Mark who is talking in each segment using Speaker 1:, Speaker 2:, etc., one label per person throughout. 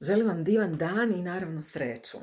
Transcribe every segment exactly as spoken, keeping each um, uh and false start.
Speaker 1: Želim vam divan dan i naravno sreću.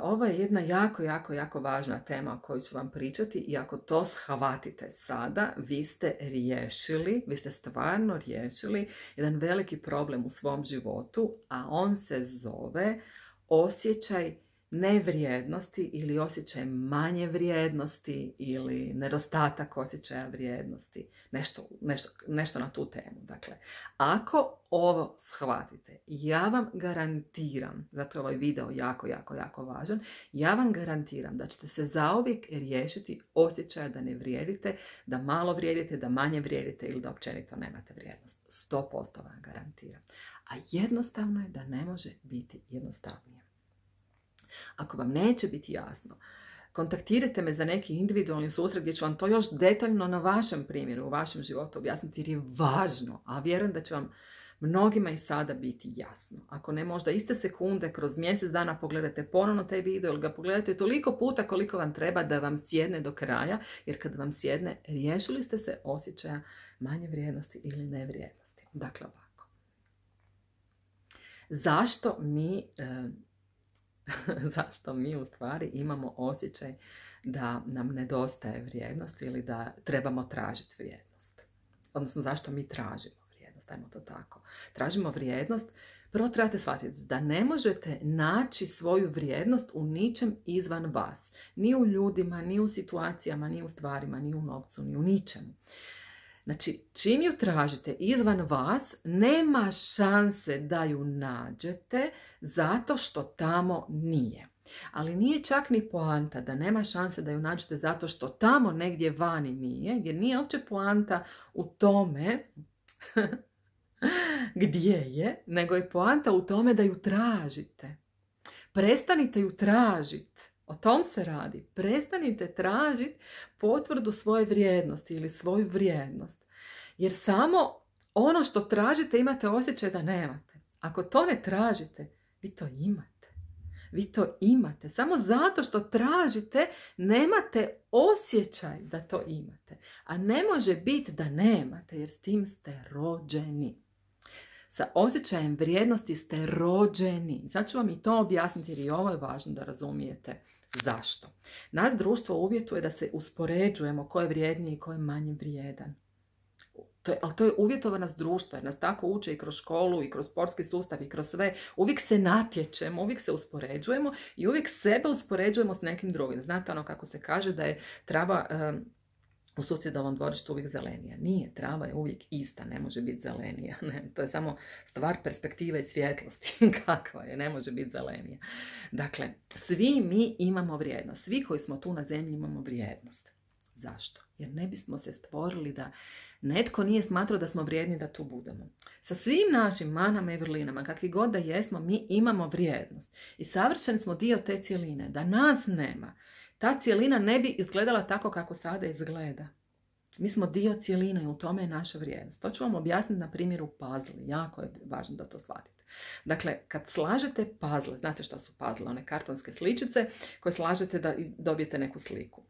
Speaker 1: Ovo je jedna jako, jako, jako važna tema o kojoj ću vam pričati i ako to shvatite sada, vi ste riješili, vi ste stvarno riješili jedan veliki problem u svom životu, a on se zove osjećaj nevrijednosti ili osjećaj manje vrijednosti ili nedostatak osjećaja vrijednosti. Nešto, nešto, nešto na tu temu. Dakle, ako ovo shvatite, ja vam garantiram, zato je ovaj video jako, jako, jako važan, ja vam garantiram da ćete se zauvijek riješiti osjećaja da ne vrijedite, da malo vrijedite, da manje vrijedite ili da općenito nemate vrijednost. sto posto vam garantiram. A jednostavno je da ne može biti jednostavnije. Ako vam neće biti jasno, kontaktirajte me za neki individualni susret gdje ću vam to još detaljno na vašem primjeru, u vašem životu objasniti jer je važno, a vjerujem da će vam mnogima i sada biti jasno. Ako ne možda iste sekunde, kroz mjesec dana pogledajte ponovno taj video ili ga pogledajte toliko puta koliko vam treba da vam sjedne do kraja, jer kad vam sjedne, riješili ste se osjećaja manje vrijednosti ili nevrijednosti. Dakle, ovako. Zašto mi... E, zašto mi u stvari imamo osjećaj da nam nedostaje vrijednost ili da trebamo tražiti vrijednost. Odnosno, zašto mi tražimo vrijednost, ajmo to tako. Tražimo vrijednost, prvo trebate shvatiti da ne možete naći svoju vrijednost u ničem izvan vas. Ni u ljudima, ni u situacijama, ni u stvarima, ni u novcu, ni u ničemu. Znači, čim ju tražite izvan vas, nema šanse da ju nađete zato što tamo nije. Ali nije čak ni poanta da nema šanse da ju nađete zato što tamo negdje vani nije, jer nije uopće poanta u tome gdje je, nego je poanta u tome da ju tražite. Prestanite ju tražiti. O tom se radi. Prestanite tražiti potvrdu svoje vrijednosti ili svoju vrijednost. Jer samo ono što tražite imate osjećaj da nemate. Ako to ne tražite, vi to imate. Vi to imate. Samo zato što tražite, nemate osjećaj da to imate. A ne može biti da nemate, jer s tim ste rođeni. Sa osjećajem vrijednosti ste rođeni. Sad ću vam i to objasniti jer i ovo je važno da razumijete. Zašto? Nas društvo uvjetuje da se uspoređujemo ko je vrijedniji i ko je manje vrijedan. To je, ali to je uvjetovanost društva jer nas tako uče i kroz školu i kroz sportski sustav i kroz sve. Uvijek se natječemo, uvijek se uspoređujemo i uvijek sebe uspoređujemo s nekim drugim. Znate ono kako se kaže da je trava um, u susjedovom dvorištu uvijek zelenija. Nije, trava je uvijek ista, ne može biti zelenija. Ne, to je samo stvar perspektive i svjetlosti. Kakva je, ne može biti zelenija. Dakle, svi mi imamo vrijednost. Svi koji smo tu na zemlji imamo vrijednost. Zašto? Jer ne bismo se stvorili da netko nije smatrao da smo vrijedni da tu budemo. Sa svim našim manama i vrlinama, kakvi god da jesmo, mi imamo vrijednost. I savršeni smo dio te cjeline. Da nas nema, ta cjelina ne bi izgledala tako kako sada izgleda. Mi smo dio cjeline i u tome je naša vrijednost. To ću vam objasniti na primjeru puzzle. Jako je važno da to shvatite. Dakle, kad slažete puzzle, znate šta su puzzle? One kartonske sličice koje slažete da dobijete neku sliku.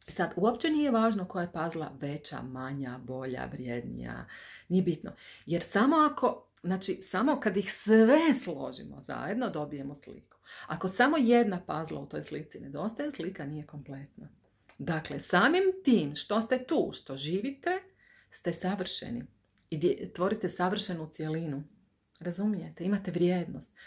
Speaker 1: Sad, uopće nije važno koja je puzzla veća, manja, bolja, vrijednija. Nije bitno. Jer samo ako, znači, samo kad ih sve složimo zajedno, dobijemo sliku. Ako samo jedna puzzla u toj slici nedostaje, slika nije kompletna. Dakle, samim tim što ste tu, što živite, ste savršeni. I tvorite savršenu cjelinu. Razumijete? Imate vrijednost.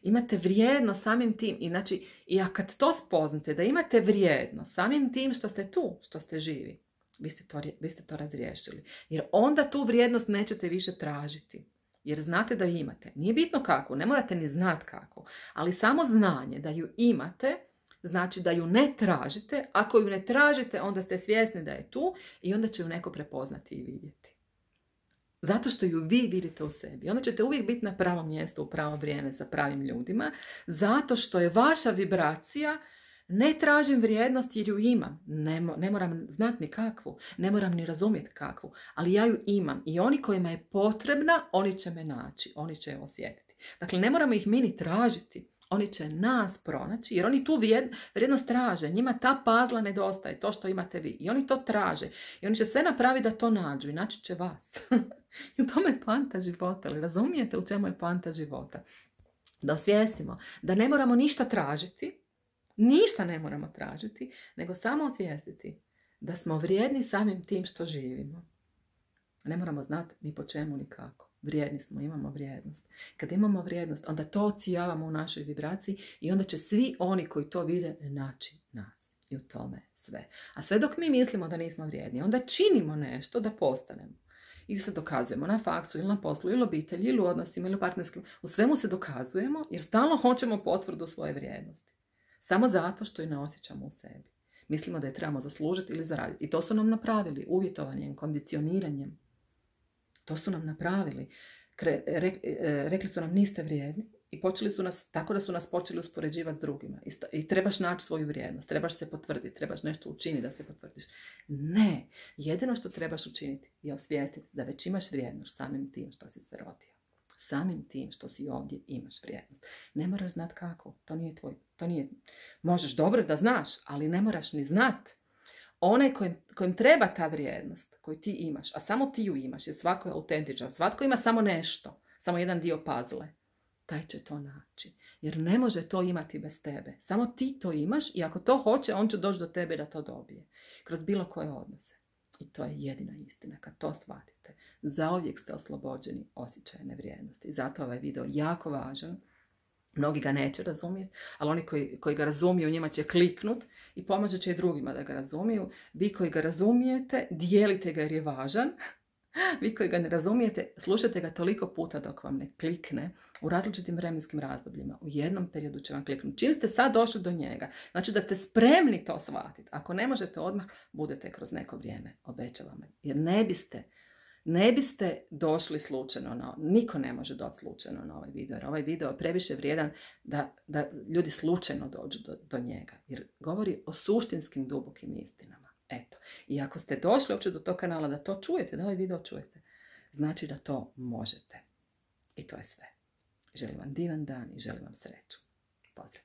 Speaker 1: Imate vrijednost samim tim. I, znači, i kad to spoznate, da imate vrijednost samim tim što ste tu, što ste živi, vi ste to, vi ste to razriješili. Jer onda tu vrijednost nećete više tražiti. Jer znate da ju imate. Nije bitno kako, ne morate ni znati kako. Ali samo znanje da ju imate, znači da ju ne tražite. Ako ju ne tražite, onda ste svjesni da je tu i onda će ju neko prepoznati i vidjeti. Zato što ju vi vidite u sebi. Onda ćete uvijek biti na pravom mjestu u pravo vrijeme sa pravim ljudima. Zato što je vaša vibracija ne tražim vrijednost jer ju imam. Ne, ne moram znati ni kakvu. Ne moram ni razumjeti kakvu. Ali ja ju imam. I oni kojima je potrebna, oni će me naći. Oni će je osjetiti. Dakle, ne moramo ih mi ni tražiti. Oni će nas pronaći jer oni tu vrijednost traže. Njima ta puzzla nedostaje, to što imate vi. I oni to traže. I oni će sve napraviti da to nađu i naći će vas. I u tome je poanta života. Ali razumijete u čemu je poanta života? Da osvijestimo da ne moramo ništa tražiti, ništa ne moramo tražiti, nego samo osvijestiti da smo vrijedni samim tim što živimo. Ne moramo znati ni po čemu, ni kako. Vrijedni smo, imamo vrijednost. Kad imamo vrijednost, onda to ocijavamo u našoj vibraciji i onda će svi oni koji to vide naći nas. I u tome sve. A sve dok mi mislimo da nismo vrijedni, onda činimo nešto da postanemo. I se dokazujemo na faksu ili na poslu ili obitelji ili u odnosima ili u partnerskim. U svemu se dokazujemo jer stalno hoćemo potvrdu svoje vrijednosti. Samo zato što je ne osjećamo u sebi. Mislimo da je trebamo zaslužiti ili zaraditi. I to su nam napravili uvjetovanjem, kondicioniranjem. To su nam napravili. Kre, re, rekli su nam niste vrijedni i počeli su nas, tako da su nas počeli uspoređivati s drugima. I, sta, I trebaš naći svoju vrijednost, trebaš se potvrditi, trebaš nešto učiniti da se potvrdiš. Ne, jedino što trebaš učiniti je osvijestiti da već imaš vrijednost samim tim što si se rodio. Samim tim što si ovdje imaš vrijednost. Ne moraš znati kako, to nije tvoj, to nije, možeš dobro da znaš, ali ne moraš ni znati. Onaj kojim, kojim treba ta vrijednost koju ti imaš, a samo ti ju imaš, jer svako je autentičan, svatko ima samo nešto, samo jedan dio puzzle, taj će to naći. Jer ne može to imati bez tebe. Samo ti to imaš i ako to hoće, on će doći do tebe da to dobije. Kroz bilo koje odnose. I to je jedina istina. Kad to shvatite, zauvijek ste oslobođeni osjećaja nevrijednosti. Zato je ovaj video jako važan. Mnogi ga neće razumjeti, ali oni koji, koji ga razumiju, njima će kliknut i pomoći će i drugima da ga razumiju. Vi koji ga razumijete, dijelite ga jer je važan. Vi koji ga ne razumijete, slušajte ga toliko puta dok vam ne klikne u različitim vremenskim razdobljima. U jednom periodu će vam kliknuti. Čim ste sad došli do njega, znači da ste spremni to shvatiti. Ako ne možete odmah, budete kroz neko vrijeme, obećavam. Jer ne biste, ne biste došli slučajno na, niko ne može doći slučajno na ovaj video. Jer ovaj video je previše vrijedan da, da ljudi slučajno dođu do, do njega. Jer govori o suštinskim dubokim istinama. Eto, i ako ste došli uopće do tog kanala da to čujete, da ovaj video čujete, znači da to možete. I to je sve. Želim vam divan dan i želim vam sreću. Pozdrav!